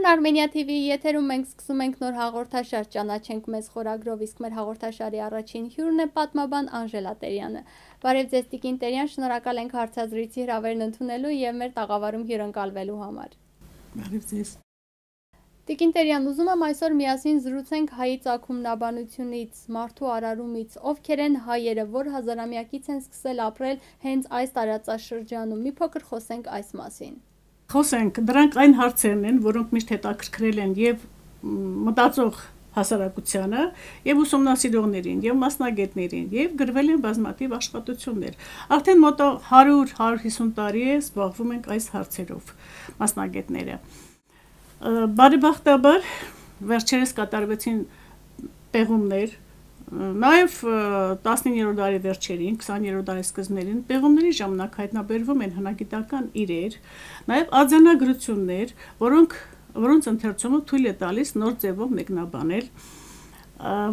Armenia TV-ի եթերում մենք սկսում ենք նոր հաղորդաշար «Ճանաչենք մեզ» խորագրով, իսկ մեր հաղորդաշարի առաջին հյուրն է պատմաբան Անժելա Տերյանը։ Բարև ձեզ Տիկին Տերյան, շնորհակալ ենք հարցազրույցի հրավերն ընդունելու եւ մեր տաղավարում հյուրընկալվելու համար։ Բարև ձեզ։ Տիկին Տերյան, ուզում եմ այսօր միասին զրուցենք հայի ծագումնաբանությունից, մարդու արարումից, ովքեր են հայերը, որ հազարամյակից են սկսել ապրել հենց այս տարածաշրջանում։ Մի փոքր խոսենք այս մասին։ Խոսենք, դրանք այն հարցերն են, որոնք միշտ հետաքրքրել են եւ մտածող հասարակությանը, եւ ուսումնասիրողներին, եւ մասնագետներին, եւ գրվել են բազմաթիվ աշխատություններ։ Արդեն մոտ 100-150 տարի է զբաղվում ենք այս հարցերով մասնագետները։ Բարեբախտաբար վերջերս կատարվեցին պեղումներ, նաև 19-րդ դարի վերջերին, 20-րդ դարի սկզբներին պեղումների ժամանակ հայտնաբերվում են հնագիտական իրեր, նաև արձանագրություններ, որոնց ընթերցումը թույլ է տալիս նոր ձևով մեկնաբանել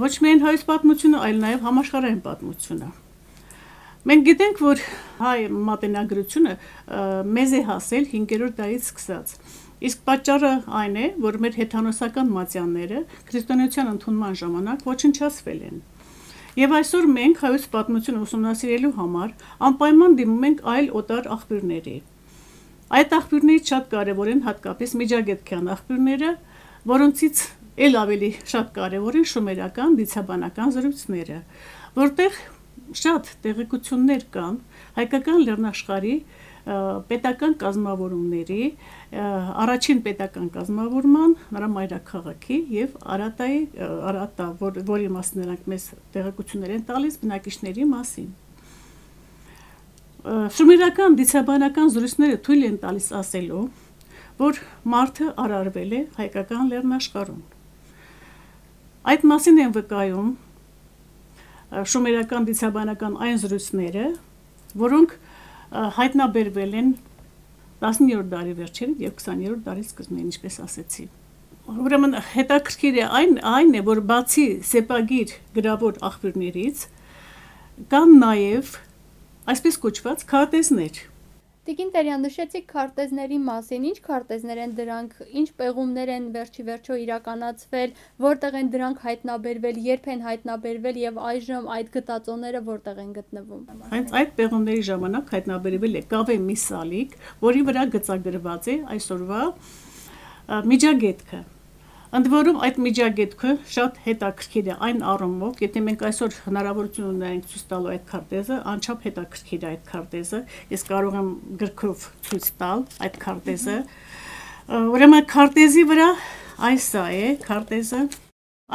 ոչ միայն հայոց պատմությունը, այլ նաև համաշխարհային պատմությունը։ Մենք գիտենք, որ հայ մատենագրությունը մեզ է հասել 5-րդ դարից սկսած։ Իսկ պատճառը այն է, որ մեր հեթանոսական մատյանները քրիստոնեության ընդունման ժամանակ ոչնչացվել են։ Եվ այսօր մենք հայոց պատմությունը ուսումնասիրելու համար անպայման դիմում ենք այլ օտար աղբյուրների։ Այդ աղբյուրներից շատ կարևոր են հատկապես միջագետքյան աղբյուրները, որոնցից էլ ավելի շատ կարևոր են շումերական դիցաբանական զրույցները, որտեղ շատ տեղեկություններ կան հայկական լեռնաշխարհի պետական կազմավորումների, առաջին պետական կազմավորման, նրա մայրաքաղաքի եւ Արատա, որի մասին նրանք մեզ տեղեկություններ են տալիս բնակիչների մասին։ Շումերական դիցաբանական զրույցները թույլ են տալիս ասելու, որ մարդը արարվել է հայկական լեռնաշխարհում։ Այդ մասին են վկայում շումերական դիցաբանական այն զրույցները, որոնք հայտնաբերվել են 19-րդ դարի վերջերին եւ 20-րդ դարի սկզբին, ինչպես ասեցի։ Ուրեմն հետաքրքիր է այն է, որ բացի սեպագիր գրավոր աղբյուրներից կան նաեւ այսպես կոչված քարտեզներ։ Տիկին Տերյան, նշեցիք քարտեզների մասին, ինչ քարտեզներ են դրանք, ինչ պեղումներ են վերջիվերջո իրականացվել, որտեղ են դրանք հայտնաբերվել, երբ են հայտնաբերվել եւ այժմ այդ գտածոները որտեղ են գտնվում։ Հենց այդ պեղումների ժամանակ հայտնաբերվել է կավե մի սալիկ, որի վրա գծագրված է այսօրվա միջագետքը։ Ընդ որում այդ միջագետքը շատ հետաքրքիր է այն առումով, եթե մենք այսօր հնարավորություն ունենք ցույց տալու այդ քարտեզը, անչափ հետաքրքիր է այդ քարտեզը, ես կարող եմ գրքով ցույց տալ այդ քարտեզը։ Ուրեմն քարտեզի վրա այս է քարտեզը։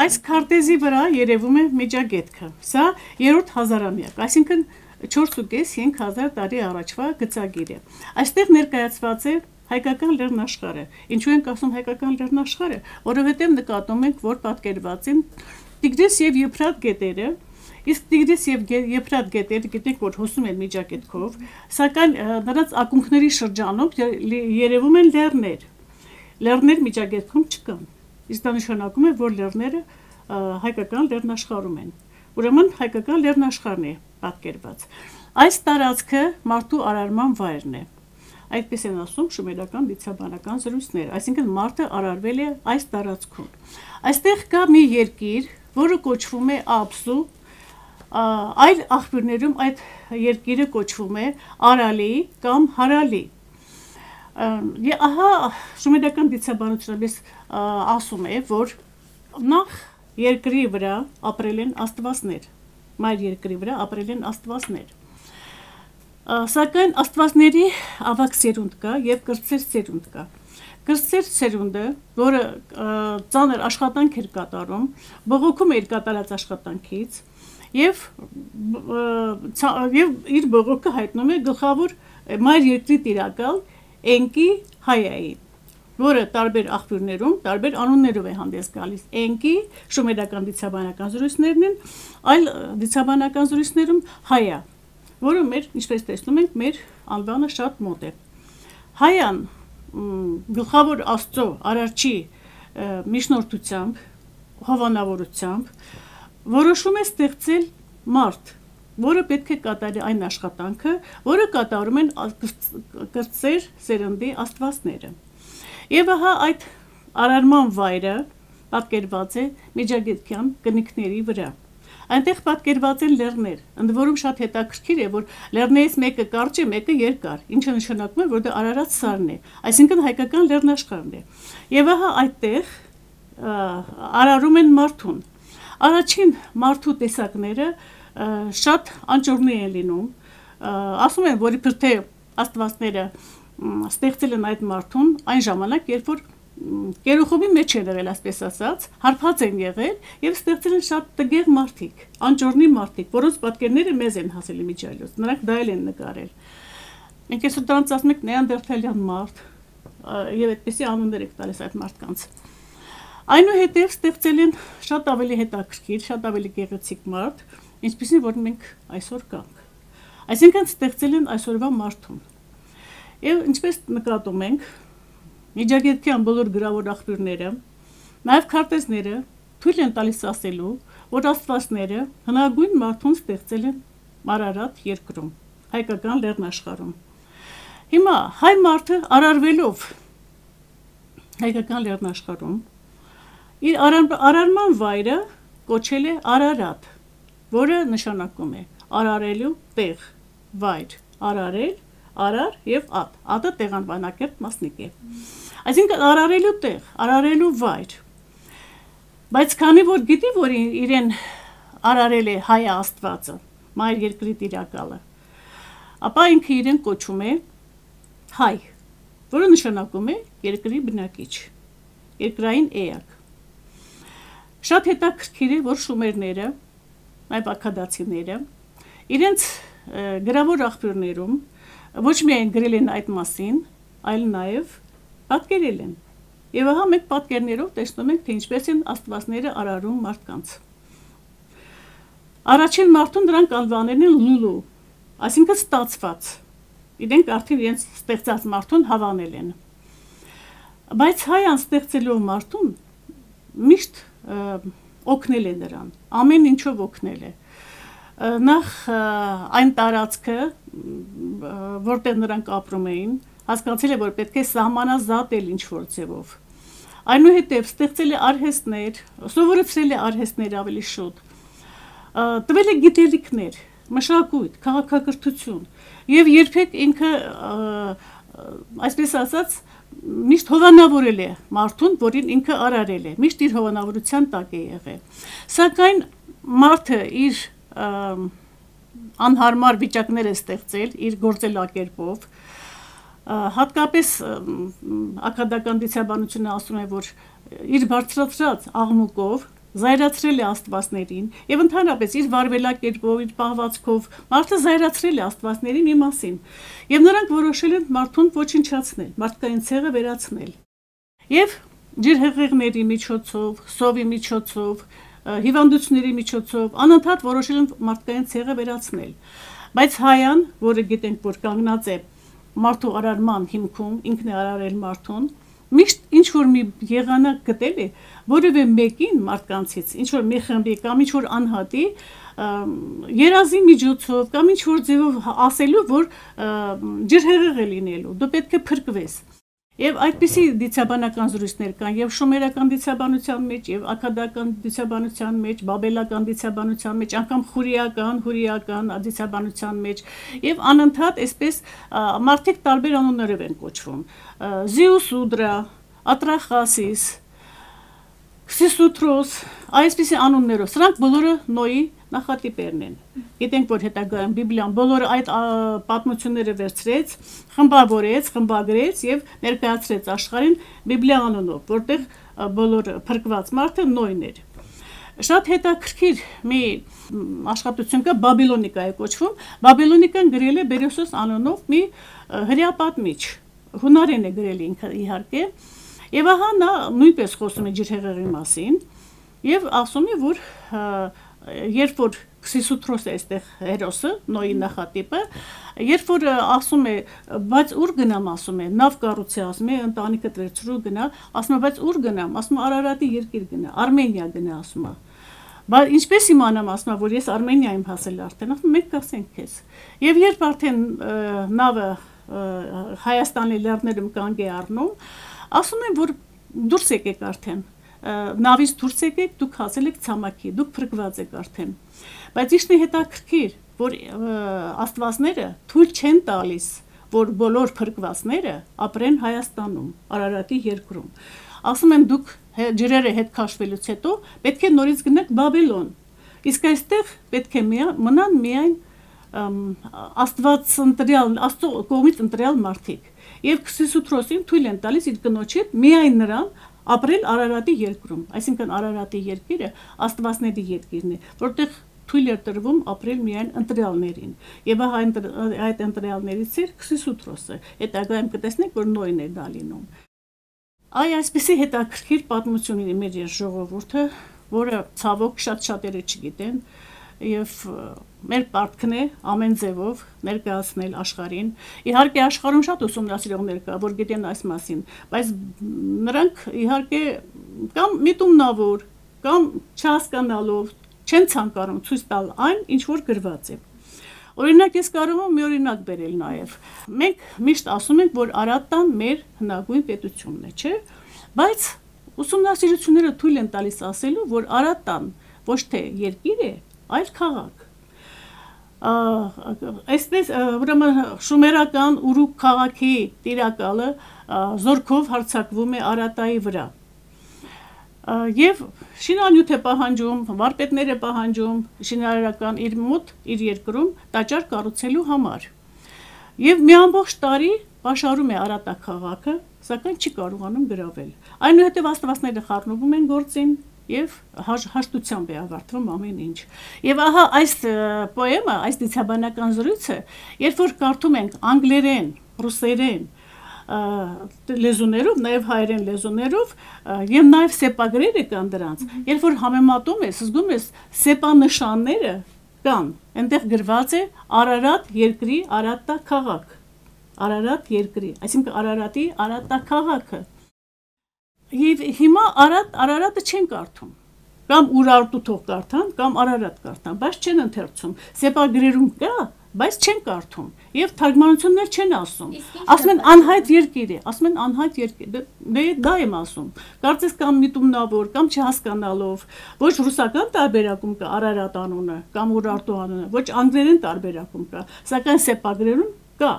Այս քարտեզի վրա երևում է միջագետքը։ Սա 3-րդ հազարամյակ, այսինքն 4.5-5000 տարի առաջվա գծագիր է։ Այստեղ ներկայացված է հայկական լեռնաշխարհը։ Ինչու ենք ասում հայկական լեռնաշխարհը, որովհետև նկատում ենք, որ պատկերված են Տիգրիս եւ Եփրատ գետերը, իսկ Տիգրիս եւ Եփրատ գետերը գիտենք, որ հոսում են միջագետքով, սակայն նրանց ակունքների շրջանում երևում են լեռներ։ Լեռներ միջագետքում չկան։ Իսկ դա նշանակում է, որ լեռները հայկական լեռնաշխարհում են։ Ուրեմն հայկական լեռնաշխարհն է պատկերված։ Այս տարածքը մարդու արարման վայրն է։ Այդպես են ասում շումերական դիցաբանական զրույցները, այսինքն մարդը արարվել է այս տարածքում։ Այստեղ կա մի երկիր, որը կոչվում է Աբսու, այլ աղբյուրներում այդ երկիրը կոչվում է Արալի կամ Հարալի։ Եվ ահա շումերական դիցաբանությունը ասում է, որ նախ երկրի վրա ապրել են աստվածներ, մայր երկրի վրա ապրել են աստվածներ։ Սակայն աստվածների ավագ սերունդ կա եւ կրտսեր սերունդ կա։ Կրտսեր սերունդը, որը ծանր աշխատանք էր կատարում, բողոքում էր կատարած աշխատանքից եւ իր բողոքը հայտնում է գլխավոր մայր երկրի տիրակալ Էնկի Հայայի, որը տարբեր աղբյուրներում տարբեր անուններով է հանդես գալիս։ Էնկի շումերական դիցաբանական զրույցներն են, այլ դիցաբանական զրույցներում Հայա, որը մեր, ինչպես տեսնում ենք, մեր անվանը շատ մոտ է։ Հայան գլխավոր Աստծո արարչի միջնորդությամբ, հովանավորությամբ որոշում է ստեղծել մարդ, որը պետք է կատարի այն աշխատանքը, որը կատարում են կրտսեր սերնդի աստվածները։ Եվ ահա այդ արարման վայրը պատկերված է Միջագետքյան կնիկների վրա։ Այնտեղ պատկերված են լեռներ, ընդ որում շատ հետաքրքիր է, որ լեռներից մեկը կարճ է, մեկը երկար, ինչը նշանակում է, որ դա Արարատ սարն է, այսինքն հայկական լեռնաշխարհն է։ Եվ ահա այդտեղ արարում են մարդուն։ Առաջին մարդու տեսակները շատ անճորնի են լինում, ասում են, որ իբր թե աստվածները ստեղծել են այդ մարդուն այն ժամանակ, երբ որ Կերոխոբի մեջ են եղել, այսպես ասած, հարբած են եղել եւ ստեղծել են շատ տգեղ մարդիկ, անճորնի մարդիկ, որոնց պատկերները մեզ են հասել իմիջիայլոց, նրանք դա են նկարել։ Մենք այսօր դրանց ասում ենք նեանդերթալյան մարդ եւ այդպեսի անուններ եք տալիս այդ մարդկանց։ Այնուհետև ստեղծել են շատ ավելի հետաքրքիր, շատ ավելի գեղեցիկ մարդ, ինչպեսին որ մենք այսօր կանք։ Այսինքն ստեղծել են այսօրվա մարդուն։ Եվ ինչպես նկատում ենք, Միջագետքյան բոլոր գրավոր աղբյուրները, նաև քարտեզները թույլ են տալիս ասելու, որ աստվածները հնագույն մարդուն ստեղծել են Արարատ երկրում, հայկական լեռնաշխարհում։ Հիմա հայ մարդը արարվելով հայկական լեռնաշխարհում իր արարման վայրը կոչել է Արարատ, որը նշանակում է արարելու տեղ, վայր, արարել, արար եւ ատ։ Ատը տեղանվանակերտ մասնիկ է։ Այսինքն արարելու տեղ, արարելու վայր։ Բայց քանի որ գիտի, որ իրեն արարել է հայ աստվածը, մայր երկրի տիրակալը, ապա ինքը իրեն կոչում է հայ, որը նշանակում է երկրի բնակիչ, երկրային էակ։ Շատ հետաքրքիր է, որ շումերները, այլ աքադացիները, իրենց գրավոր աղբյուրներում ոչ միայն գրել են այդ մասին, այլ նաև պատկերել են։ Եվ ահա մենք պատկերներով տեսնում ենք, թե ինչպես են աստվածները արարում մարդկանց։ Առաջին մարդուն նրանք անվանել են Լուլու, այսինքն ստացված։ Իրենք արդեն իրենց ստեղծած մարդուն հավանել են։ Բայց հայան ստեղծելով մարդուն միշտ օգնել է նրան, ամեն ինչով օգնել է։ Նախ այն տարածքը, որտեղ նրանք ապրում էին, հասկացել է, որ պետք է սահմանազատել ինչ-որ ձևով։ Այնուհետև ստեղծել է արհեստներ, սովորեցրել է արհեստներ ավելի շուտ, տվել է գիտելիքներ, մշակույթ, քաղաքակրթություն, եւ երբեք ինքը, այսպես ասած, միշտ հովանավորել է մարդուն, որին ինքը արարել է, միշտ իր հովանավորության տակ է եղել։ Սակայն մարդը իր անհարմար վիճակներ է ստեղծել իր գործելակերպով, հատկապես աքադական դիցաբանությունը ասում է, որ իր բարձրացրած աղմուկով զայրացրել է աստվածներին եւ ընդհանրապես իր վարվելակերպով, իր պահվածքով մարդը զայրացրել է աստվածների մի մասին եւ նրանք որոշել են մարդուն ոչնչացնել, մարդկային ցեղը վերացնել։ Եվ ջրհեղեղների միջոցով, սովի միջոցով, հիվանդությունների միջոցով անընդհատ որոշել են մարդկային ցեղը վերացնել։ Բայց հայան, որը գիտենք, որ կանգնած է մարդու արարման հիմքում, ինքն է արարել մարդուն, միշտ ինչ որ մի եղանակ գտել է, որևէ մեկին մարդկանցից, ինչ որ մի խմբի կամ ինչ որ անհատի երազի միջոցով կամ ինչ որ ձևով ասելու, որ ջրհեղեղ է լինելու, դու պետք է փրկվես։ Եվ այդպիսի դիցաբանական զրույցներ կան եւ շումերական դիցաբանության մեջ, եւ աքադական դիցաբանության մեջ, բաբելական դիցաբանության մեջ, անգամ հուրիական դիցաբանության մեջ, եւ անընդհատ այսպես մարդիկ տարբեր անուններով են կոչվում։ Զիուսուդրա, Ատրախասիս, Քսիսուտրոս, այսպիսի անուններով, սրանք բոլորը Նոյի նախատիպերն են։ Գիտենք, որ հետագայում Բիբլիան բոլոր այդ պատմությունները վերցրեց, խմբավորեց, խմբագրեց եւ ներկայացրեց աշխարհին Բիբլիա անունով, որտեղ բոլոր փրկված մարդը Նոյն էր։ Շատ հետաքրքիր մի աշխատություն կա, Բաբիլոնիկա է կոչվում։ Բաբիլոնիկան գրել է Բերոսոս անունով մի հրեապատմիչ, հունարեն է գրել ինքը իհարկե։ Եվ ահա նա նույնպես խոսում է ջրհեղեղի մասին եւ ասում է, որ երբ որ Քսիսուտրոս է այստեղ հերոսը, Նոյի նախատիպը, երբ որ ասում է, բայց ուր գնամ, ասում է, նավ կառուցի, ասում է, ընտանիքը վերցրու գնա, ասում է, բայց ուր գնամ, ասում է, Արարատի երկիր գնա, Արմենիա գնա, ասում է։ Բայց ինչպես իմանամ, ասում է, որ ես Արմենիա եմ հասել արդեն, ասում մենք կասենք քեզ։ Եվ երբ արդեն նավը Հայաստանի լեռներում կանգ է առնում, ասում են, որ դուրս եկեք արդեն, նավից դուրս եկեք, դուք հասել եք ցամաքի, դուք փրկված եք արդեն։ Բայց իշտի հետաքրքիր, որ աստվածները թույլ չեն տալիս, որ բոլոր փրկվածները ապրեն Հայաստանում, Արարատի երկրում։ Ասում են դուք ջրերը հետ քաշվելուց հետո պետք է նորից գնաք Բաբելոն։ Իսկ այստեղ պետք է մնան միայն Աստված ընտրյալ, Աստծո կողմից ընտրյալ մարդիկ։ Եվ Քրիստոսին թույլ են տալիս իր կնոջ հետ միայն նրան ապրել Արարատի երկրում, այսինքն Արարատի երկիրը Աստվածների երկիրն է, որտեղ թույլ էր տրվում ապրել միայն ընտրյալներին։ Եվ այդ ընտրյալներից էր Քրիստոսը։ Հետագայում կտեսնենք, որ նույնն է դա լինում։ Այսպեսի հետաքրքիր պատմություն ունի մեր ժողովուրդը, որը ցավոք շատ-շատերը չգիտեն, եւ մեր պարտքն է ամեն ձևով ներկայացնել աշխարհին։ Իհարկե աշխարհում շատ ուսումնասիրողներ կա, որ գիտեն այս մասին, բայց նրանք իհարկե կամ միտումնավոր, կամ չհասկանալով չեն ցանկանում ցույց տալ այն, ինչ որ գրված է։ Օրինակ ես կարող եմ մի օրինակ բերել նաև։ Մենք միշտ ասում ենք, որ Արատան մեր հնագույն պետությունն է, չէ՞։ Բայց ուսումնասիրությունները թույլ են տալիս ասելու, որ Արատան ոչ թե երկիր է, այլ քաղաք։ Այսպես ուրեմն շումերական Ուրուկ քաղաքի տիրակալը զորքով հարձակվում է Արատայի վրա։ Եվ շինանյութ է պահանջում, վարպետներ է պահանջում շինարարական իր մոտ, իր երկրում տաճար կառուցելու համար։ Եվ մի ամբողջ տարի պաշարում է Արատա քաղաքը, սակայն չի կարողանում գրավել։ Այնուհետև աստվածները խառնվում են գործին եւ հաշտությամբ է ավարտվում ամեն ինչ։ Եվ ահա այս պոեմը, այս դիցաբանական զրույցը, երբ որ կարդում ենք անգլերեն, ռուսերեն, լեզուներով, նաև հայերեն լեզուներով եւ նաև սեպագրերը կան դրանց։ Երբ որ համեմատում ես, զգում ես սեպանշանները կան, այնտեղ գրված է Արարատ երկրի Արատա քաղաք։ Արարատ երկրի, այսինքն Արարատի Արատա քաղաքը։ Եվ հիմա Արարատը չեն կարդում։ Կամ Ուրարտու թող կարդան, կամ Արարատ կարդան, բայց չեն ընթերցում։ Սեպագրերում կա, բայց չեն կարդում եւ թարգմանություններ չեն ասում։ Ասում են անհայտ երկիր է, ասում են անհայտ երկիր։ Դե դա եմ ասում։ Կարծես կամ միտումնավոր, կամ չհասկանալով, ոչ ռուսական տարբերակում կա Արարատ անունը, կամ Ուրարտու անունը, ոչ անգլերեն տարբերակում կա, սակայն սեպագրերում կա,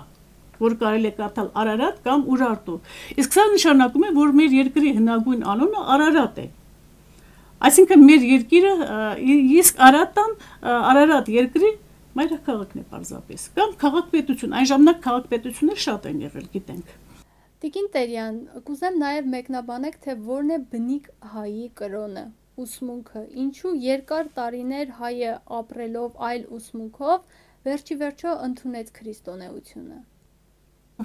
որ կարելի է կարդալ Արարատ կամ Ուրարտու։ Իսկ սա նշանակում է, որ մեր երկրի հնագույն անունը Արարատ է։ Այսինքն մեր երկիրը իսկ Արարատ երկրի մայրաքաղաքն է պարզապես, կամ քաղաքպետություն, այն ժամանակ քաղաքպետություններ շատ են եղել, գիտենք։ Տիկին Տերյան, կուզեմ նաև մեկնաբանեք, թե որն է բնիկ հայի կրոնը, ուսմունքը, ինչու երկար տարիներ հայը ապրելով այլ ուսմունքով, վերջի վերջո ընդունեց քրիստոնեությունը։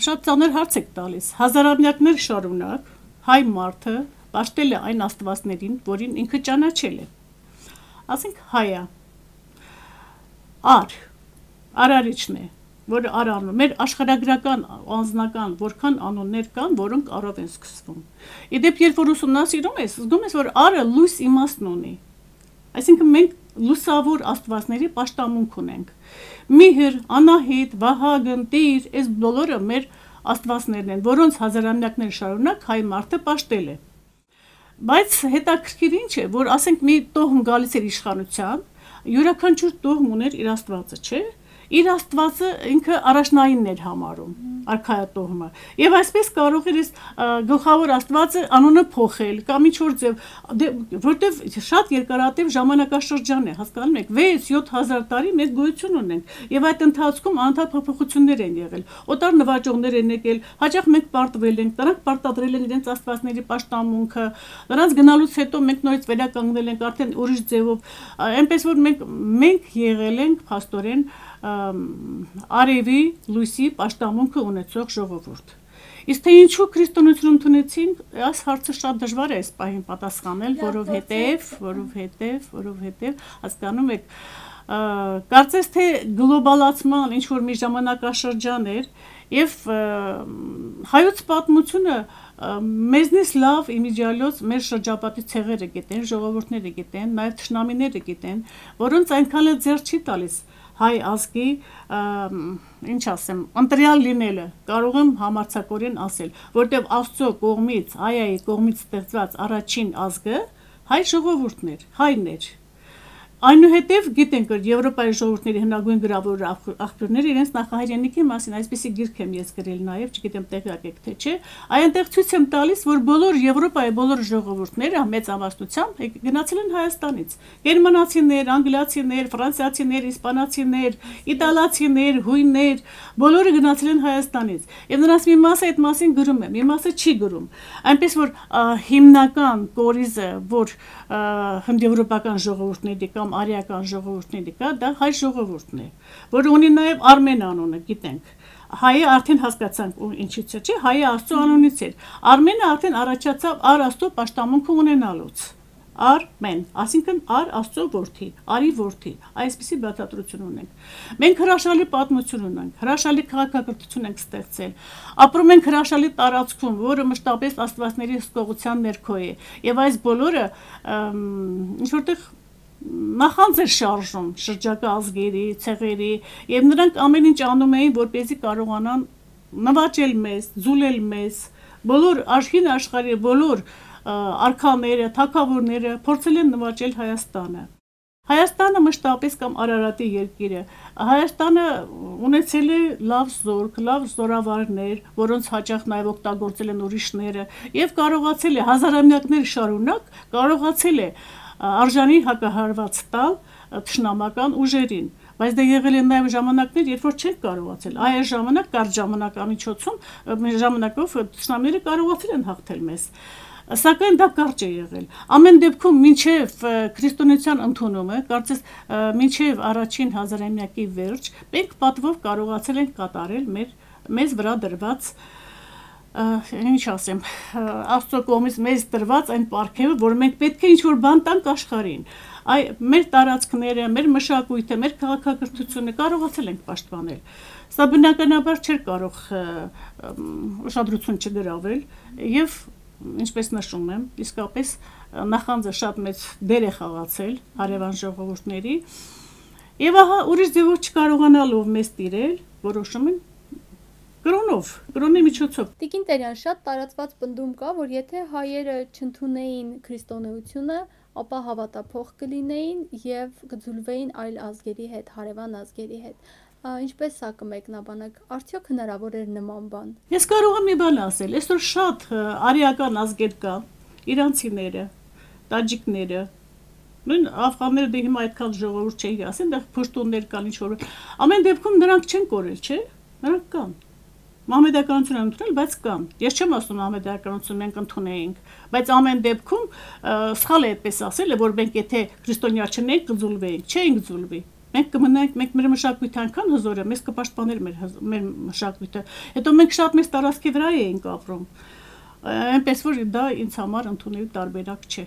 Շատ ծանր հարց եք տալիս, հազարամյակներ շարունակ հայ մարդը պաշտել է այն աստվածներին, որին ինքը ճանաչել է։ Ասենք հայա Արարիչն է, որը Արանում, մեր աշխարհագրական անձնական որքան անուններ կան, որոնք առով են սկսվում։ Իդեպ երբ որ ուսումնասիրում ես, զգում ես, որ Արը լույս իմաստն ունի։ Այսինքն մենք լուսավոր աստվածների պաշտամունք ունենք։ Միհր, Անահիտ, Վահագն, Տիր, այս բոլորը մեր աստվածներն են, որոնց հազարամյակներ շարունակ հայ մարդը պաշտել է։ Բայց հետաքրքիր ինչ է, որ ասենք մի տոհմ գալիս էր իշխանության, յուրաքանչյուր տոհմ ուներ իր աստվածը, չէ՞։ Իր աստվածը ինքը առաջնայինն էր համարում, արքայատոհմը։ Եւ այսպես կարող էր գլխավոր աստվածը անունը փոխել կամ ինչ որ ձև, որտեվ շատ երկարատև ժամանակաշրջան է, հասկանում եք, 6-7 տարի մենք գոյություն ունենք եւ այդ ընթացքում անընդհատ փոփոխություններ են եղել։ Օտար նվաճողներ են եկել, հաճախ մենք պարտվել ենք, նրանք պարտադրել են իրենց աստվածների պաշտամունքը, նրանց գնալուց հետո մենք նորից վերականգնել ենք արդեն ուրիշ ձևով, այնպես որ մենք եղել ենք փաստորեն արևի լույսի պաշտամունքը ունեցող ժողովուրդ։ Իսկ թե ինչու քրիստոնեություն ընդունեցին, այս հարցը շատ դժվար է այս պահին պատասխանել, որովհետև հասկանում եք, կարծես թե գլոբալացման ինչ որ մի ժամանակաշրջան էր եւ հայոց պատմությունը մեզնից լավ իմիջիալոց մեր շրջապատի ցեղերը գիտեն, ժողովուրդները գիտեն, նաեւ թշնամիները գիտեն, որոնց այնքան էլ ձեռ չի տալիս հայ ազգի ինչ ասեմ, ընտրյալ լինելը, կարող եմ համարձակորեն ասել, որտեղ Աստծո կողմից, հայայի կողմից ստեղծված առաջին ազգը հայ ժողովուրդն էր, հայն էր։ Այնուհետև գիտենք, որ Եվրոպայի ժողովուրդների հնագույն գրավոր աղբյուրները իրենց նախահայրենիքի մասին այսպիսի գիրք եմ ես գրել նաև, չգիտեմ տեղյակ եք թե չէ, այնտեղ ցույց եմ տալիս, որ բոլոր Եվրոպայի բոլոր ժողովուրդները մեծ ամբողջությամբ գնացել են Հայաստանից։ Գերմանացիներ, անգլիացիներ, ֆրանսիացիներ, իսպանացիներ, իտալացիներ, հույններ, բոլորը գնացել են Հայաստանից։ Եվ նրանց մի մասը այդ մասին գրում է, մի մասը չի գրում։ Այնպես որ հիմնական կորիզը, որ հնդեվրոպական ժողովուրդների կամ արիական ժողովուրդների կա, դա հայ ժողովուրդն է, որը ունի նաև Արմեն անունը, գիտենք։ Հայը արդեն հասկացանք ինչից է, չէ, հայը Աստծո անունից էր։ Արմենը արդեն առաջացավ Ար Աստծո պաշտամունքը ունենալուց։ Արմեն, ասինքն Ար Աստծո որդի, Արի որդի, այսպիսի բացատրություն ունենք։ Մենք հրաշալի պատմություն ունենք, հրաշալի քաղաքակրթություն ենք ստեղծել, ապրում ենք հրաշալի տարածքում, որը մշտապես աստվածների հսկողության ներքո է, եւ այս բոլորը ինչ որտեղ նախանձ էր շարժում շրջակա ազգերի, ցեղերի, եւ նրանք ամեն ինչ անում էին, որպեսզի կարողանան նվաճել մեզ, ձուլել մեզ, բոլոր աշխարհի բոլոր արքաները, թագավորները փորձել են նվաճել Հայաստանը։ Հայաստանը մշտապես կամ Արարատի երկիրը, Հայաստանը ունեցել է լավ զորք, լավ զորավարներ, որոնց հաճախ նաև օգտագործել են ուրիշները, եւ կարողացել է հազարամյակներ շարունակ կարողացել է արժանի հակահարված տալ թշնամական ուժերին, բայց դա եղել են նաև ժամանակներ, երբ որ չեն կարողացել։ Այս ժամանակ կարճ ժամանակով թշնամիները կարողացել են հաղթել մեզ։ Սակայն դա կարճ է եղել։ Ամեն դեպքում մինչև քրիստոնեության ընդունումը, կարծես մինչև առաջին հազարամյակի վերջ, մենք պատվով կարողացել ենք կատարել մեզ վրա դրված ինչ ասեմ, Աստծո կողմից մեզ տրված այն պարգևը, որ մենք պետք է ինչ-որ բան տանք աշխարհին։ Մեր տարածքները, մեր մշակույթը, մեր քաղաքակրթությունը կարողացել ենք պաշտպանել։ Սա բնականաբար չէր կարող ուշադրություն չգրավել եւ ինչպես նշում եմ, իսկապես նախանձը շատ մեծ դեր է խաղացել հարևան ժողովուրդների եւ ահա ուրիշ ձևով չկարողանալով մեզ տիրել, որոշում են կրոնի միջոցով։ Տիկին Տերյան, շատ տարածված պնդում կա, որ եթե հայերը չընդունեին քրիստոնեությունը, ապա հավատափող կլինեին եւ կձուլվեին այլ ազգերի հետ, հարևան ազգերի հետ։ Ինչպես սա կմեկնաբանեք, արդյոք հնարավոր էր նման բան։ Ես կարող եմ մի բան ասել, այսօր շատ արիական ազգեր կա, իրանցիները, տաջիկները, նույն աֆղանները դե հիմա այդքան ժողովուրդ չէի ասեն, դա փշտուններ կան ինչ-որ։ Ամեն դեպքում նրանք չեն կորել, չէ՞։ Նրանք կան։ Մահմեդականություն են ընդունել, բայց կան։ Ես չեմ ասում մահմեդականություն մենք ընդունեինք, բայց ամեն դեպքում սխալ է այդպես ասել, որ մենք եթե քրիստոնյա չնենք, կձուլվեինք, չէինք ձուլվի։ Մենք կմնանք, մենք մեր մշակույթը այնքան հզոր է, մեզ կպաշտպաներ մեր մշակույթը։ Հետո մենք շատ մեծ տարածքի վրա էինք ապրում։ Այնպես որ դա ինձ համար ընդունելու տարբերակ չէ։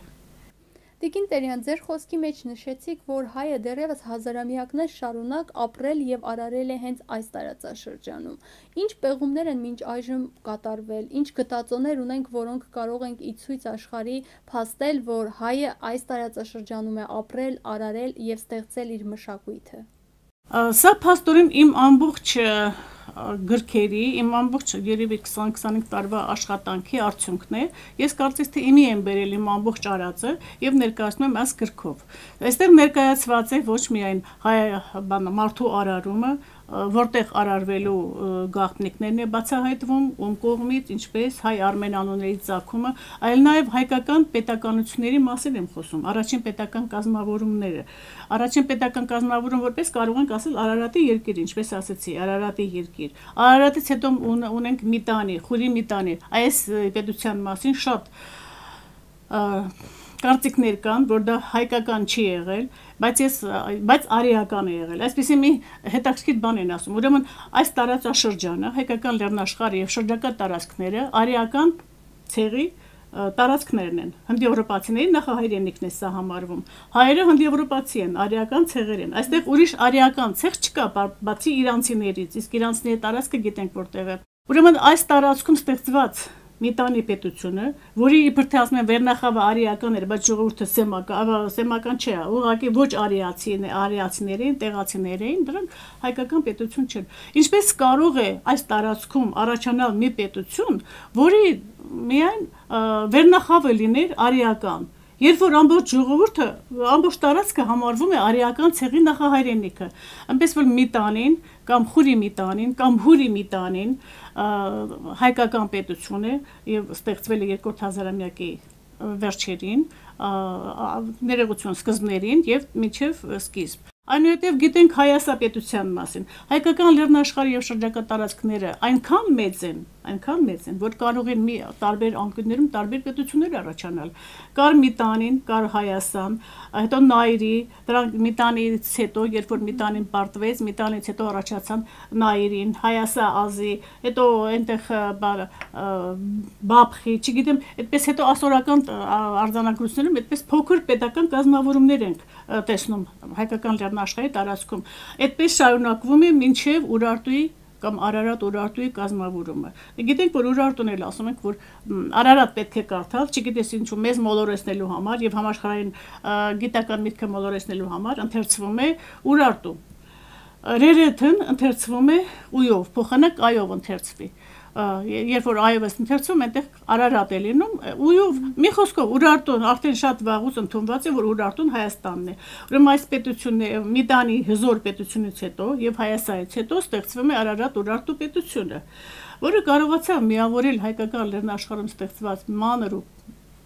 Տիկին Տերյան, ձեր խոսքի մեջ նշեցիք, որ հայը դեռևս հազարամյակներ շարունակ ապրել եւ արարել է հենց այս տարածաշրջանում։ Ինչ պեղումներ են մինչ այժմ կատարվել, ինչ գտածոներ ունենք, որոնք կարող ենք ի ցույց աշխարհի փաստել, որ հայը այս տարածաշրջանում է ապրել, արարել եւ ստեղծել իր մշակույթը։ Սա փաստորեն իմ ամբողջ գրքերի, իմ ամբողջ երևի 20-25 տարվա աշխատանքի արդյունքն է։ Ես կարծես թե իմի եմ բերել իմ ամբողջ արածը եւ ներկայացնում եմ այս գրքով։ Այստեղ ներկայացված է ոչ միայն մարդու արարումը, որտեղ արարվելու գաղտնիքներն է բացահայտվում, ում կողմից, ինչպես հայ արմեն անունների ծագումը, այլ նաև հայկական պետականությունների մասին եմ խոսում, առաջին պետական կազմավորումները։ Առաջին պետական կազմավորում որպես կարող ենք ասել Արարատի երկիր, ինչպես ասեցի, Արարատի երկիր։ Արարատից հետո ունենք Միտանի, Խուրի Միտանի։ Այս պետության մասին շատ կարծիքներ կան, որ դա հայկական չի եղել, բայց արիական է եղել։ Այսպեսի մի հետաքրքիր բան են ասում։ Ուրեմն այս տարածաշրջանը, հայկական լեռնաշխարհը եւ շրջակա տարածքները արիական ցեղի տարածքներն են։ Հնդեվրոպացիների նախահայրենիքն է սա համարվում։ Հայերը հնդեվրոպացի են, արիական ցեղեր են։ Այստեղ ուրիշ արիական ցեղ չկա, բացի իրանցիներից, իսկ իրանցիների տարածքը գիտենք որտեղ է։ Ուրեմն այս տարածքում ստեղծված Միտանի պետությունը, որի իբր թե ասում են վերնախավը արիական էր, բայց ժողովուրդը սեմական չէ, ուղղակի ոչ արիացիներին, տեղացիներին, դրանք հայկական պետություն չեն։ Ինչպես կարող է այս տարածքում առաջանալ մի պետություն, որի միայն վերնախավը լիներ արիական, երբ որ ամբողջ ժողովուրդը, ամբողջ տարածքը համարվում է արիական ցեղի նախահայրենիքը, այնպես որ Միտանին կամ Խուրի Միտանին կամ Հուրի Միտանին հայկական պետություն է եւ ստեղծվել է 2-րդ հազարամյակի վերջերին, ներողություն սկզբներին եւ մինչեւ սկիզբ։ Այնուհետև գիտենք Հայասապետության մասին։ Հայկական լեռնաշխարհի եւ շրջակա տարածքները այնքան մեծ են, որ կարող են մի տարբեր անկյուններում տարբեր պետություններ առաջանալ։ Կար Միտանին, կար Հայասան, հետո Նայիրի, դրանք Միտանից հետո, երբ որ Միտանին պարտվեց, Միտանից հետո առաջացան Նայիրին, Հայասա ազի, հետո այնտեղ Բաբխի, չգիտեմ, այդպես հետո ասորական արձանագրություններում այդպես փոքր պետական կազմավորումներ ենք տեսնում հայկական լեռնաշխարհի տարածքում։ Այդպես շարունակվում է մինչև Ուրարտուի կամ Արարատ Ուրարտուի կազմավորումը։ Գիտենք, որ Ուրարտուն էլ ասում ենք, որ Արարատ պետք է կարդալ, չգիտես ինչու, մեզ մոլորեցնելու համար եւ համաշխարհային գիտական միտքը մոլորեցնելու համար ընթերցվում է Ուրարտու։ Ռերեթն ընթերցվում է ույով, փոխանակ այով ընթերցվի։ Երբ որ այով է ընթերցում, այնտեղ Արարատ է լինում, ույով մի խոսքով Ուրարտուն արդեն շատ վաղուց ընդունված է, որ Ուրարտուն Հայաստանն է։ Ուրեմն այս պետությունը Միտանի հզոր պետությունից հետո եւ Հայասայից հետո ստեղծվում է Արարատ Ուրարտու պետությունը, որը կարողացավ միավորել հայկական լեռնաշխարհում ստեղծված մանր ու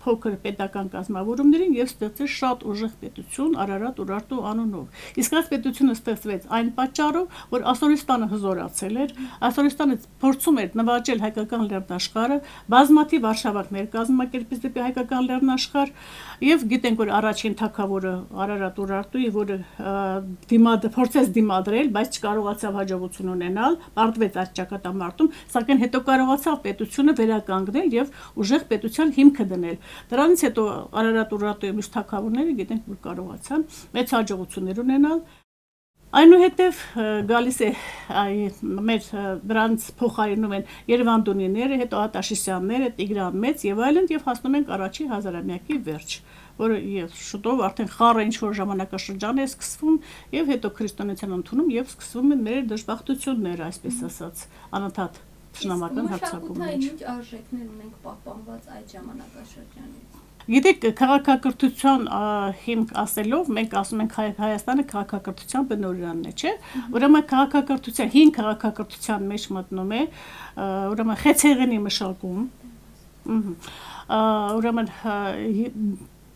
փոքր պետական կազմավորումներին եւ ստեղծել շատ ուժեղ պետություն Արարատ Ուրարտու անունով։ Իսկ այս պետությունը ստեղծվեց այն պատճառով, որ Ասորստանը հզորացել էր, Ասորստանը փորձում էր նվաճել հայկական լեռնաշխարհը, բազմաթիվ արշավանքներ կազմակերպեց դեպի հայկական լեռնաշխարհ եւ գիտենք, որ առաջին թագավորը Արարատ Ուրարտուի, որը փորձեց դիմադրել, բայց չկարողացավ հաջողություն ունենալ, պարտվեց այդ ճակատամարտում, սակայն հետո կարողացավ պետությունը վերականգնել եւ ուժեղ պետության հիմքը դնել։ Դրանից հետո Արարատ Ուրարտուի մյուս թագավորները գիտենք, որ կարողացան մեծ հաջողություններ ունենալ։ Այնուհետև գալիս է մեր դրանց փոխարինում են Երևանդունիները, հետո Ատաշիսյանները, Տիգրան Մեծ եւ այլն եւ հասնում ենք առաջին հազարամյակի վերջ, որը շուտով արդեն խառը ինչ որ ժամանակաշրջան է սկսվում եւ հետո քրիստոնեության ընդունում եւ սկսվում են մեր դժբախտությունները, այսպես ասած, անընդհատ Շնամական հարձակումներ։ Ինչ արժեքներ ունենք պահպանված այդ ժամանակաշրջանից։ Գիտեք, քաղաքակրթության հիմք ասելով, մենք ասում ենք Հայաստանը քաղաքակրթության բնօրինակն է, չէ՞։ Ուրեմն քաղաքակրթության, հին քաղաքակրթության մեջ մտնում է, ուրեմն խեցեղենի մշակում, ուրեմն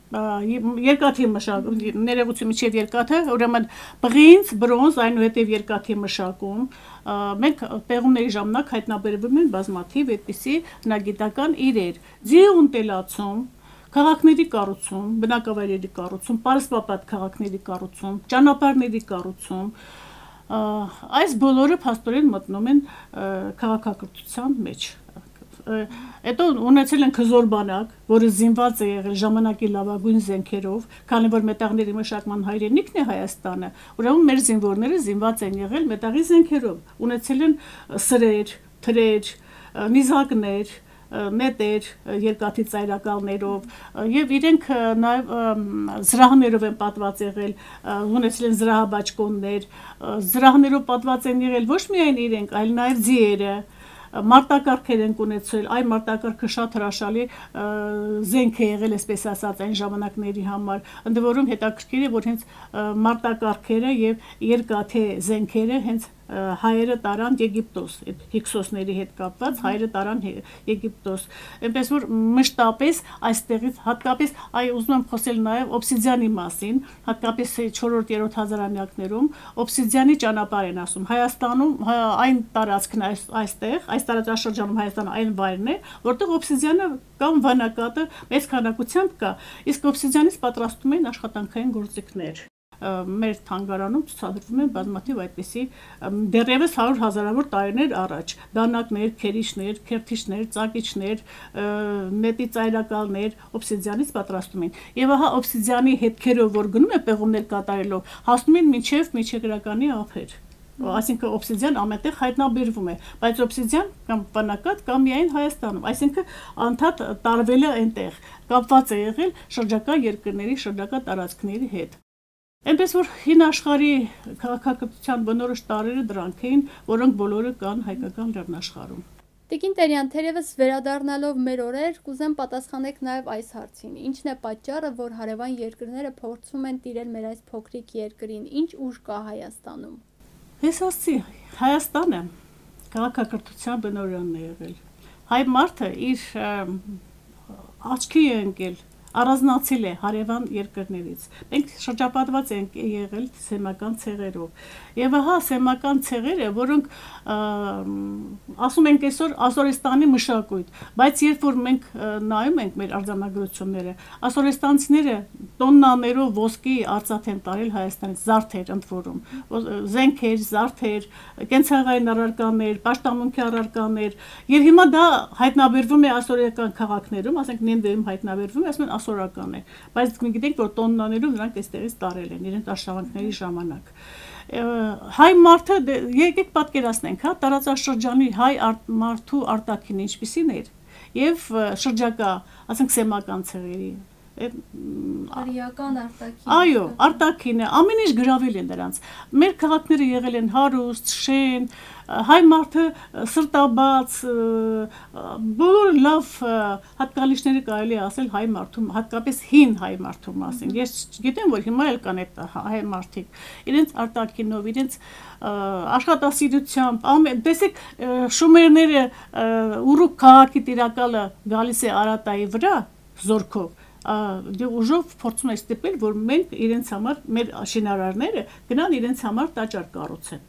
երկաթի մշակում, ներողություն միջև երկաթը, ուրեմն բղինձ, բրոնզ, այնուհետև երկաթի մշակում, մենք պեղումների ժամանակ հայտնաբերվում են բազմաթիվ այդպիսի հնագիտական իրեր, ձիու ընտելացում, քաղաքների կառուցում, բնակավայրերի կառուցում, պարսպապատ քաղաքների կառուցում, ճանապարհների կառուցում, այս բոլորը փաստորեն մտնում են քաղաքակրթության մեջ։ Հետո ունեցել են հզոր բանակ, որը զինված է եղել ժամանակի լավագույն զենքերով, քանի որ մետաղների մշակման հայրենիքն է Հայաստանը, ուրեմն մեր զինվորները զինված են եղել մետաղի զենքերով, ունեցել են սրեր, թրեր, նիզակներ, նետեր, երկաթի ծայրակալներով եւ իրենք նաեւ զրահներով են պատված եղել, ունեցել են զրահաբաճկոններ, զրահներով պատված են եղել ոչ միայն իրենք, այլ նաեւ ձիերը, մարտակարգեր են ունեցել, այն մարտակարգը շատ հրաշալի զենք է եղել, այսպես ասած, այն ժամանակների համար, ընդ որում հետաքրքիր է, որ հենց մարտակարգերը եւ երկաթե զենքերը հենց հայերը տարան Եգիպտոս, այդ հիքսոսների հետ կապված հայերը տարան Եգիպտոս, այնպես որ մշտապես այստեղից հատկապես ուզում եմ խոսել նաև օբսիդիանի մասին, հատկապես 4-րդ հազարամյակներում օբսիդիանի ճանապարհ են ասում, Հայաստանում այն տարածքն այստեղ, այս տարածաշրջանում Հայաստանը այն վայրն է, որտեղ օբսիդիանը կամ վանակատը մեծ քանակությամբ կա, իսկ օբսիդիանից պատրաստում են աշխատանքային գործիքներ։ Մեր թանգարանում ցուցադրվում են բազմաթիվ այդպիսի դեռևս 100 հազարավոր տարիներ առաջ դանակներ, քերիչներ, քերթիչներ, ծակիչներ, նետի ծայրակալներ օբսիդիանից պատրաստում են։ Եվ ահա օբսիդիանի հետքերով որ գնում է պեղումներ կատարելով, հասնում են մինչև միջերկրականի ափեր։ Այսինքն օբսիդիան ամենտեղ հայտնաբերվում է, բայց օբսիդիան կամ բանակատ կամ միայն Հայաստանում, այսինքն անդադ տարվել է այնտեղ, կապված է եղել շրջակա երկրների, շրջակա տարածքների հետ։ Այնպես որ հին աշխարհի քաղաքակրթության բնորոշ տարրերը դրանք էին, որոնք բոլորը կան հայկական լեռնաշխարհում։ Տիկին Տերյան, թերևս վերադառնալով մեր օրեր, կուզեմ պատասխանեք նաև այս հարցին. Ինչն է պատճառը, որ հարևան երկրները փորձում են տիրել մեր այս փոքրիկ երկրին, ինչ ուժ կա Հայաստանում։ Ես ասացի, Հայաստանը քաղաքակրթության բնօրյունն է եղել։ Հայ մարդը իր աչքի է ընկել, առանձնացել է հարևան երկրներից։ Մենք շրջապատված ենք եղել սեմական ցեղերով։ Եվ ահա սեմական ցեղերը, որոնք ասում ենք այսօր Ասորեստանի մշակույթ, բայց երբ որ մենք նայում ենք մեր արձանագրությունները, ասորեստանցիները տոննաներով ոսկի արծաթ են տարել Հայաստանից, զարդեր ընդ որում, զենքեր, զարդեր, կենցաղային առարկաներ, պաշտամունքի առարկաներ, եւ հիմա դա հայտնաբերվում է ասորական քաղաքներում, ասենք Նինվեում հայտնաբերվում է, ասում են ասորական է, բայց մենք գիտենք, որ տոննաներով նրանք այստեղից տարել են իրենց աշխատանքների ժամանակ։ Հայ մարդը, եկեք պատկերացնենք, հա, տարածաշրջանի հայ մարդու արտաքինը ինչպիսին էր եւ շրջակա, ասենք սեմական ցեղերի Արիական արտաքին։ Այո, արտաքինը, ամեն ինչ գրավել են դրանց։ Մեր քաղաքները եղել են հարուստ, շեն, հայ մարդը սրտաբաց, բոլոր լավ հատկալիչները կարելի է ասել հայ մարդու, հատկապես հին հայ մարդու մասին։ Ես գիտեմ, որ հիմա էլ կան այդ հայ մարդիկ, իրենց արտաքինով, իրենց աշխատասիրությամբ, տեսեք, շումերները Ուրուկ քաղաքի տիրակալը գալիս է Արատայի վրա զորքով ուժով փորձում է ստիպել, որ մենք իրենց համար, մեր շինարարները գնան իրենց համար տաճար կառուցեն։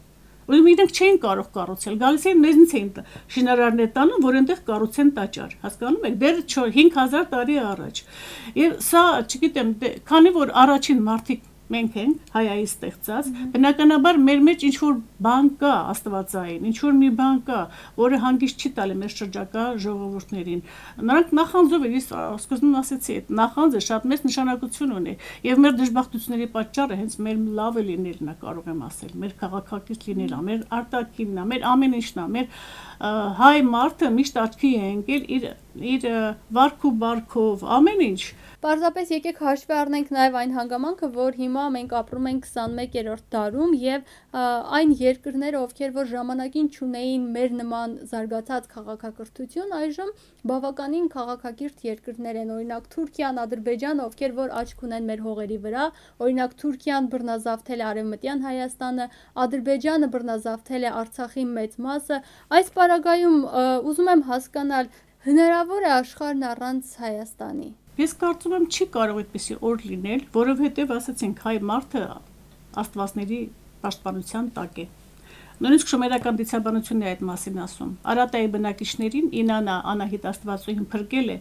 Ուրեմն իրենք չէին կարող կառուցել, գալիս էին մեզնից էին շինարարներ տանում, որ այնտեղ կառուցեն տաճար, հասկանում եք, դեռ 5000 տարի առաջ։ Եվ սա, չգիտեմ, քանի որ առաջին մարդիկ մենք ենք հայայի ստեղծած, բնականաբար մեր մեջ ինչ որ բան կա աստվածային, ինչ որ մի բան կա, որը հանգիստ չի տալի մեր շրջակա ժողովուրդներին։ Նրանք նախանձով են, ես սկզբում ասեցի, այդ նախանձը շատ մեծ նշանակություն ունի, եւ մեր դժբախտությունների պատճառը հենց մեր լավը լինելն է, կարող եմ ասել, մեր քաղաքակիրթ լինելն է, մեր արտաքինն է, մեր ամեն ինչն է, մեր հայ մարդը միշտ աչքի է ընկել իր վարք ու բարքով, ամեն ինչ։ Պարզապես եկեք հաշվի առնենք նաև այն հանգամանքը, որ հիմա մենք ապրում ենք 21-րդ դարում եւ այն երկրները, ովքեր որ ժամանակին չունեին մեր նման զարգացած քաղաքակրթություն, այժմ բավականին քաղաքակիրթ երկրներ են, օրինակ Թուրքիան, Ադրբեջանը, ովքեր որ աչք ունեն մեր հողերի վրա, օրինակ Թուրքիան բռնազավթել է Արևմտյան Հայաստանը, Ադրբեջանը բռնազավթել է Արցախի մեծ մասը։ Այս պարագայում ուզում եմ հասկանալ, հնարավոր է աշխարհն առանց Հայաստանի։ Ես կարծում եմ չի կարող այդպեսի օր լինել, որովհետև ասացինք հայ մարդը աստվածների պաշտպանության տակ է։ Նույնիսկ շումերական դիցաբանությունն է այդ մասին ասում։ Արատայի բնակիչներին Ինանա Անահիտ աստվածուհին փրկել է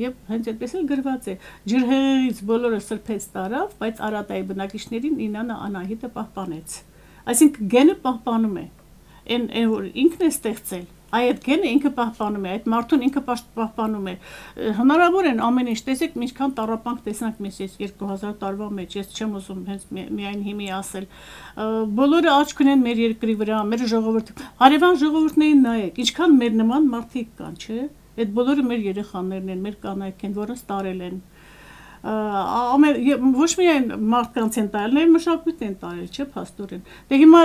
եւ հենց այդպես էլ գրված է։ Ջրհեղեղից բոլորը սրբեց տարավ, բայց Արատայի բնակիչներին Ինանա Անահիտը պահպանեց։ Այսինքն գենը պահպանում է։ Այն որ ինքն է ստեղծել այդ գենը ինքը պահպանում է, այդ մարդուն ինքը պահպանում է։ Հնարավոր են ամեն ինչ, տեսեք, ինչքան տառապանք տեսանք մեզ 2000 տարվա մեջ, ես չեմ ուզում հենց միայն հիմի ասել։ Բոլորը աչք ունեն մեր երկրի վրա, մեր ժողովուրդը, հարևան ժողովուրդներին նայեք, ինչքան մեր նման մարդիկ կան, չէ՞։ Այդ բոլորը մեր երեխաներն են, մեր կանայք են, որոնց տարել են։ Ոչ միայն մարդկանց են տարել, նաև մշակույթ են տարել, չէ՞, փաստորեն։ Դե հիմա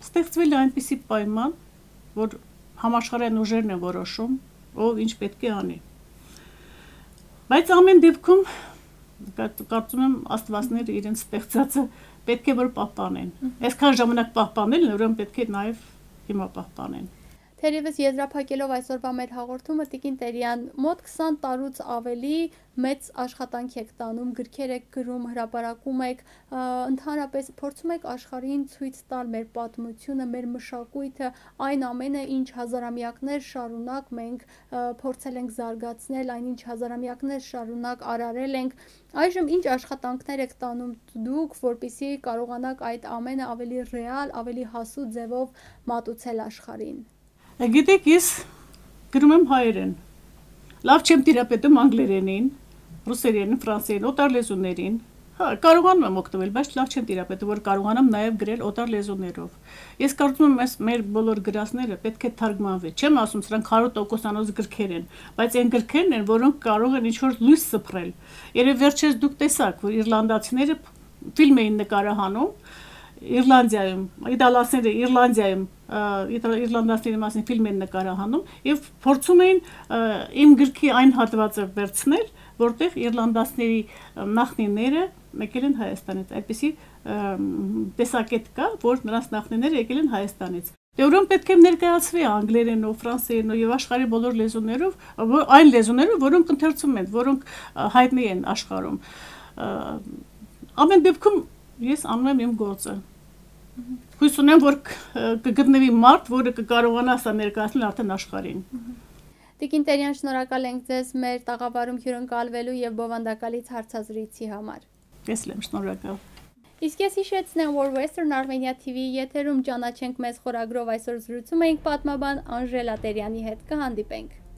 ստեղծվել է այնպիսի պայման, որ համաշխարհային ուժերն են որոշում, ով ինչ պետք է անի։ Բայց ամեն դեպքում կարծում եմ աստվածները իրենց ստեղծածը պետք է որ պահպանեն։ Այսքան ժամանակ պահպանել, ուրեմն պետք է նաև հիմա պահպանեն։ Թերևս եզրափակելով այսօրվա մեր հաղորդումը, Տիկին Տերյան, մոտ 20 տարուց ավելի մեծ աշխատանք եք տանում, գրքեր եք գրում, հրապարակում եք, ընդհանրապես փորձում եք աշխարհին ցույց տալ մեր պատմությունը, մեր մշակույթը, այն ամենը, ինչ հազարամյակներ շարունակ մենք փորձել ենք զարգացնել, այնինչ հազարամյակներ շարունակ արարել ենք։ Այժմ ինչ աշխատանքներ եք տանում դուք, որպեսզի կարողանաք այդ ամենը ավելի ռեալ, ավելի հասու ձևով մատուցել աշխարհին։ Գիտեք, ես գրում եմ հայերեն, լավ չեմ տիրապետում անգլերենին, ռուսերենին, ֆրանսերեն, օտար լեզուներին, Հա, կարողանում եմ օգտվել, բայց լավ չեմ տիրապետում, որ կարողանամ նաև գրել օտար լեզուներով։ Ես կարծում եմ, մեր բոլոր գրածները պետք է թարգմանվի։ Չեմ ասում, սրանք 100%-անոց գրքեր են, բայց այն գրքերն են, որոնք կարող են ինչ-որ լույս սփռել։ Երբ վերջերս դուք տեսաք, որ իռլանդացիները ֆիլմ էին նկարահանում Իռլանդիայում, իտալացիները Իռլանդիայում իռլանդացիների մասին ֆիլմ են նկարահանում եւ փորձում էին իմ գրքի այն հատվածը վերցնել, որտեղ իռլանդացիների նախնիները եկել են Հայաստանից, այդպիսի տեսակետ կա, որ նրանց նախնիները եկել են Հայաստանից։ Դե ուրեմն պետք է ներկայացվի անգլերենով, ֆրանսերենով եւ աշխարհի բոլոր լեզուներով, այն լեզուներով, որոնք ընթերցում են, որոնք հայտնի են աշխարհում։ Ամեն դեպքում ես անում եմ իմ գործը։ Հույս ունեմ, որ կգտնվի մարդ, որը կկարողանա սա ներկայացնել արդեն աշխարհին։ Տիկին Տերյան, շնորհակալ ենք ձեզ մեր տաղավարում հյուրընկալվելու եւ բովանդակալից հարցազրույցի համար։ Ես եմ շնորհակալ։ Իսկ ես հիշեցնեմ, որ Western Armenia TV-ի եթերում ճանաչենք մեզ խորագրով այսօր զրուցում էինք պատմաբան Անժելա Տերյանի հետ։ Կհանդիպենք։